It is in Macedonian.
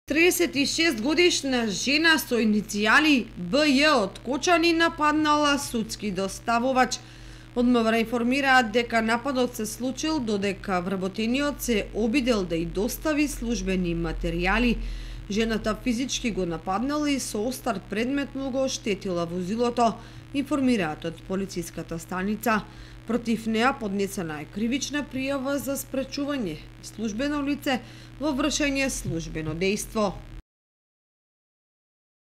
36 годишна жена со иницијали БЈ од Кочани нападнала судски доставувач. Од МВР информираат дека нападот се случил додека вработениот се обидел да и достави службени материјали. Жената физички го нападнала и со остар предмет му го оштетила возилото, информираат од полициската станица. Против неа поднесена е кривична пријава за спречување службено лице во вршење службено дејство.